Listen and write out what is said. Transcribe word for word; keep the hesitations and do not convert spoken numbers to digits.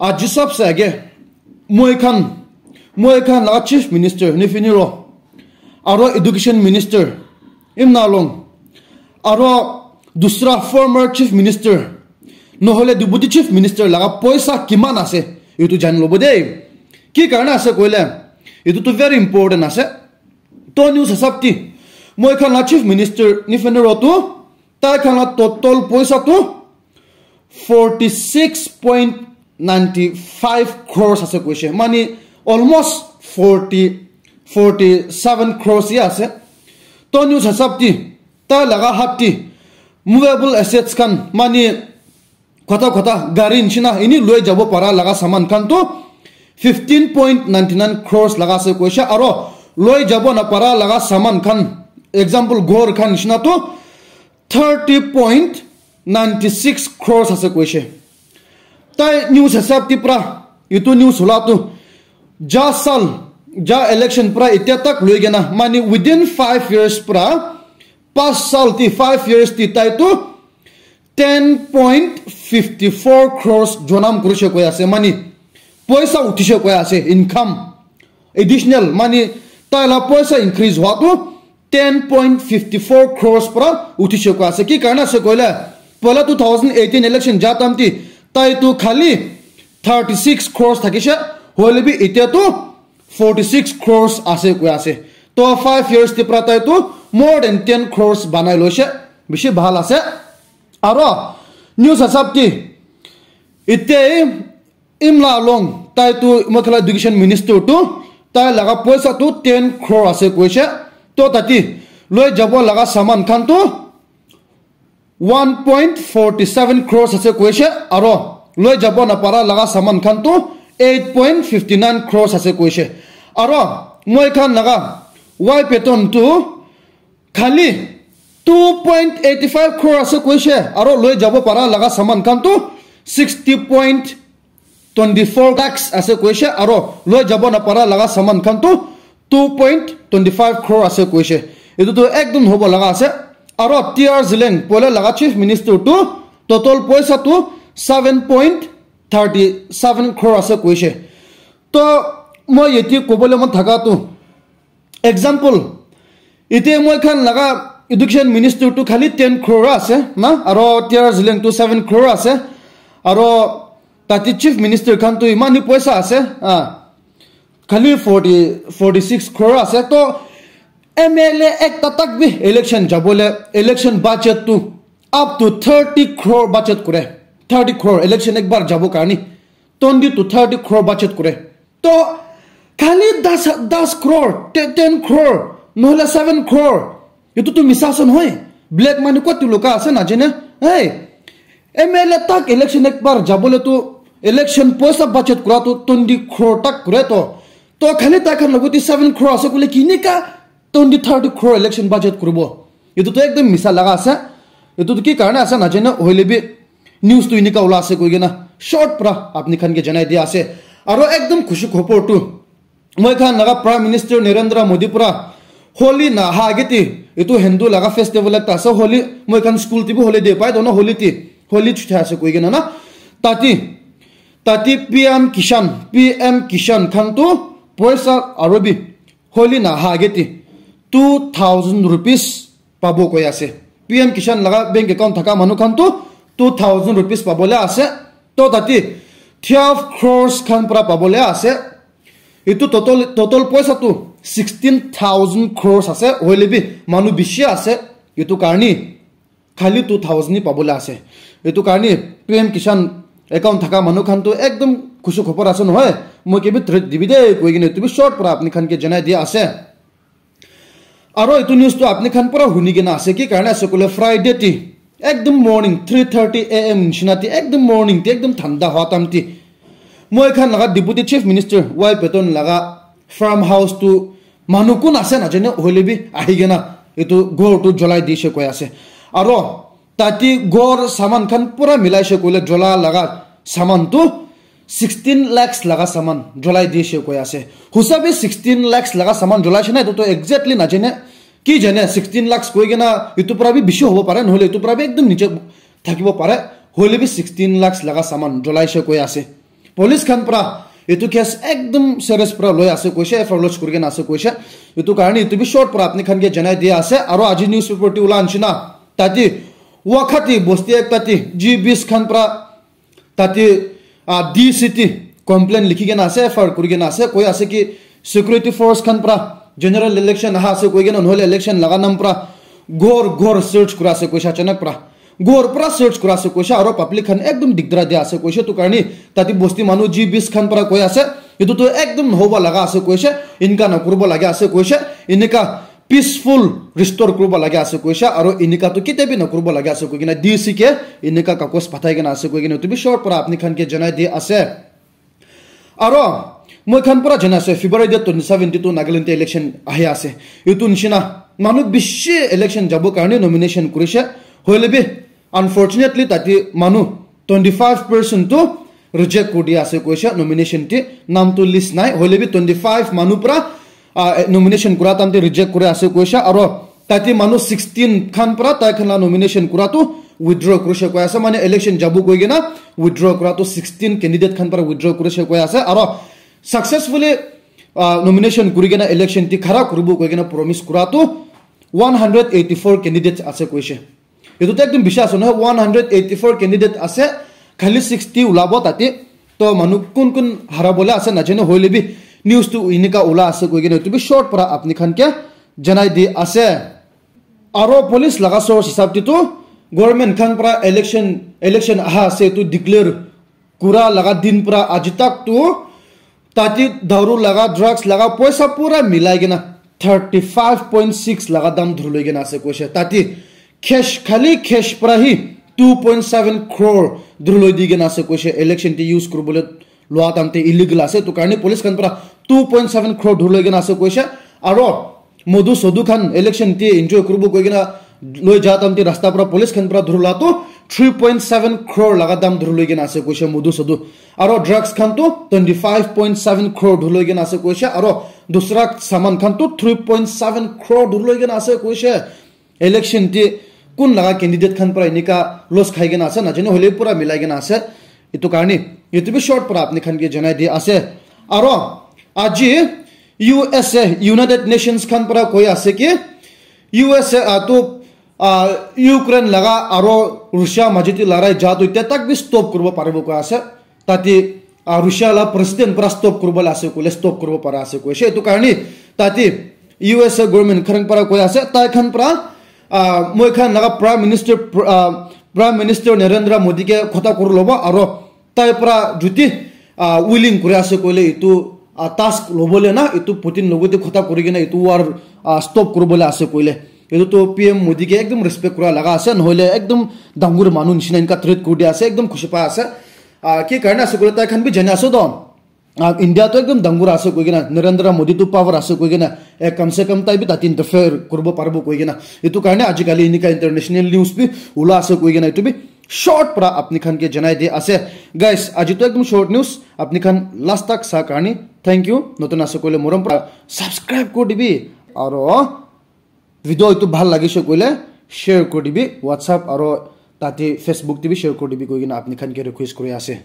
Aji sabse aage, moi khan, moi khan laga Chief Minister Neiphiu Ro, aro Education Minister Imna Along, aro dusra former Chief Minister, nohole Deputy Chief Minister laga poisa kiman ase, etu jani lobo de. Ki karne ase koile, etu tu very important ase. To news hisab ti, moi khan la Chief Minister Neiphiu Ro tu, tai khan la total poisa tu forty six point ninety five crores ase koise. Mani almost forty, forty seven crores ya ase. To news hisab ti, tai laga hat ti movable assets khan, mani kota kota gari nishina ini loi jabo para laga saman khan tu fifteen point ninety nine crores laga ase koise, aro loi jabo na para laga saman khan, example, ghor khan nishina tu thirty point ninety six crores ase koise. Tai news hisab ti pra, itu news hula tu, ja sal, ja election pra itia tak loi kena, mani within five years pra, pas sal ti, five years ti tai tu ten point fifty four crores jonam kurishe koi ase, mani poisa uthishe koi ase, income additional, mani tai la poisa increase hua tu ten point fifty four crores pra uthishe koi ase. Ki karne ase koile, poila two thousand eighteen election ja time ti tai tu khali thirty six crores thakishe, hoile bi itia tu forty six crores ase koi ase. To five years ti pra tai tu more than ten crores banai loise, bishi bhal ase. Aro news hisab ti, ite Imla Along, tai tu moi khan la education minister tu, tai laga poisa tu ten crore ase koise. To tati loi jabo laga saman khan tu one point forty seven crores ase koise, aro loi jabo na para laga saman khan tu eight point fifty nine crores ase koise. Aro moi khan laga Y Patton tu khali two point eighty five crore ase koise, aro loi jabo para laga saman khan tu sixty point twenty four lakhs ase koise, aro loi jabo na para laga saman khan tu two point twenty five crore ase koise. Etu tu ekdom hobo laga ase. Aro T R Zeliang, poila laga chief minister tu total poisa tu seven point thirty seven crore ase koise. To moi yate kobole mon thaka tu, example, ite moi khan laga education minister tu khali ten crore ase na, aro T R Zeliang tu seven crore ase, aro tati chief minister khan tu iman hi poisa ase, ah, khali forty, forty six crore ase. To M L A ekta tak bi election jabole, election budget tu up to thirty crore budget kore, thirty crore election ekbar jabo karni, twenty to thirty crore budget kore. To khali das, das crore, te-, ten crore, nohole seven crore. Etu tu misa ase nohoi. Black money kot tu luka ase najane. Hey, M L A tak election ekbar jabole tu election poisa budget kura tu twenty crore tak kure to. To khali tai khan logot te seven crore ase kule kinika twenty, thirty crore election budget kuribo. Etu tu ekdom misa laga ase. Etu tu ki karne ase najane, hoile bi news tu enika ula ase koi kena short pra apni khan ke janai dia ase. Aro ekdom khushi khobor tu, moi khan laga Prime Minister Narendra Modi pra Holi na ha age ti, etu Hindu laga festival ekta ase, Holi, moi khan school ti bi holiday pai to na, Holi ti, Holi chuti ase koi kena na. Tati, tati P M Kisan, P M Kisan khan tu poisa aro bi Holi na ha age ti two thousand rupees pabo koi ase. P M Kisan laga bank account thaka manu khan tu two thousand rupees pabole ase. To tati twelve crores khan pra pabole ase. Etu total, total poisa tu sixteen thousand crores ase. Hoile bi manu bishi ase. Etu karni khali two thousand hi pabole ase. Etu karni P M Kisan account thaka manu khan tu ekdom khushi khobor ase nohoi. Moi ke bi treat dibi de koi kena etu bi short pra apni khan ke janai dia ase. Aro etu news tu apni khan pura huni kena ase, ki karne ase kule Friday ti ekdom morning three thirty A M nishina ti ekdom morning ti ekdom thanda hua time ti moi khan laga Deputy Chief Minister Y Patton laga farm house tu manu kun ase najane, hoile bi ahi kena etu ghor tu jolai dishe koi ase. Aro tati ghor saman khan pura milaishe koile jola laga saman tu sixteen lakhs laga saman jolai dishe koi ase. Husabi sixteen lakhs laga saman jolaishe na, etu to exactly najane. Ki jane, sixteen lakhs koi kena etu pra bi bishi hobo pare, nohole etu pra bi ekdom niche thakibo pare. Hoile bi sixteen lakhs laga saman jolaishe koi ase. Police khan pra etu case ekdum serious pra loi ase koise, F I R lodge kuri kena ase koise. Etu karne etu bi short pra apni khan ke janai dia ase. Aro aji newspaper te ula nishina tate Wakati bosti ekta te G Bs khan pra tate, ah, D C te complaint likhi kena ase, F I R kuri kena ase, koi ase ki security force khan pra general election aha ase koi kena, nohole election laga nam pra ghor ghor search kura ase koise, achanak pra ghor pra search kura ase koise, aro public khan ekdum digdara dia ase koise. Etu karne tate bosti manu G Bs khan pra koi ase, etu tu ekdum nohoba laga ase koise, inka nakuribo laga ase koise, enika peaceful restore kuribo laga ase koise, aro enika tu ketia bi nakuribo laga ase koi kena D C ke enika kakos pathai kena ase koi kena etu bi short pra apni khan ke janai di ase. Aro moi khan pra jana ase February date twenty seven te tu Nagaland te election ahi ase. Etu nishina manu bishi election jabo karne nomination kurise, hoile bi unfortunately tate manu twenty five percent tu reject kuri dia ase koise, nomination te nam tu list nai, hoile bi twenty five manu pra, ah, nomination kura time te reject kuri ase koise, aro tate manu sixteen khan pra tai khan la nomination kura tu withdraw kurise koi ase, mane election jabo koi kena withdraw kura tu sixteen candidate khan pra withdraw kurise koi ase, aro successfully, ah, nomination kuri kena election te khara kuribo koi kena promise kura tu one hundred eighty four candidate ase koise. Etu tu ekdum bishi ase nohoi, one hundred eighty four candidate ase, khali sixty ulabo tate. To manu kun kun hara bole ase najane, hoile bi news tu enika ula ase koi kena etu bi short pra apni khan ke janai di ase. Aro police laga source hisab te tu government khan pra election, election aha ase tu declare kura laga din pra aji tak tu tate daru laga, drugs laga poisa pura milai kena thirty five point six laga dam dhuri loi kena ase koise. Tate cash, khali cash pra hi two point seven crore dhuri loi di kena ase koise, election te use kuribole lua time te illegal ase, etu karne police khan pra two point seven crore dhuri loi kena ase koise. Aro modu sodu khan election te enjoy kuribo koi kena loi ja time te rasta pra police khan pra dhurula tu three point seven crore laga dam dhuri loi kena ase koise modu sodu. Aro drugs khan tu twenty five point seven crore dhuri loi kena ase koise. Aro dusra saman khan tu three point seven crore dhuri loi kena ase koise. Election te kun laga candidate khan pra enika loss khai kena ase najane, hoile pura milai kena ase. Etu karne etu bi short pra apni khan ke janai di ase. Aro aji U S A, United Nations khan pra koi ase ki U S A, ah, tu, ah, Ukraine laga aro Russia maji te larai ja tu ite tak bi stop kuribo paribo koi ase. Tate, ah, Russia la president pra stop kuribo la ase koile stop kuribo para ase koise. Etu karne tate U S A government khan pra koi ase, tai khan pra, ah, moi khan laga Prime Minister, pr-, ah, Prime Minister Narendra Modi ke khota kuri lobo aro tai pra juti, ah, willing kuri ase koile etu, ah, task lobole na, etu Putin logote khota kuri kena etu war, ah, stop kuribole ase koile. Etu tu P M Modi ke ekdum respect kura laga ase, nohole ekdum dangor manu nishina enka treat kuri dia ase, ekdum khushi pa ase. Ah, ki karne ase koile tai khan bi jani ase to. Ah, India tu ekdum dangor ase koi kena, Narendra Modi tu power ase koi kena, eh, kam se kam tai bi tate interfere kuribo paribo koi kena. Etu karne ajikali enika international news bi ula ase koi kena, etu bi short pra apni khan ke janai di ase. Guys, aji to ekdum short news, apni khan last tak sa karne thank you. Notun ase koile morom pra subscribe kuri dibi, aro video etu bhal lagise koile share kuri dibi, WhatsApp aro tate Facebook te bi share kuri dibi koi kena apni khan ke request kuri ase.